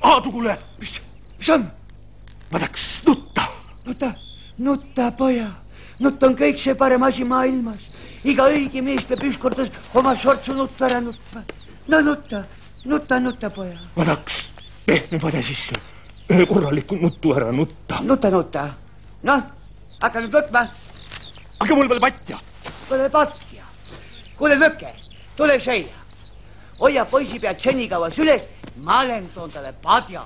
Aadu, kuule, mis on? Ma tahaks nutta. Nutta, poja. Nutt on kõik see parem asi maailmas. Iga õige mees peab ükskord oma sortsu nutta ära nutma. No nutta, poja. Ma tahaks pehme pade sisse ühe korraliku nuttu ära nutta. Nutta. Noh, hakka nüüd nutma. Aga mul pole patja. Pole patja. Kuule, Mökke, tule siia. Hoia poisi pead senikaua süles, ma olen toon talle padja.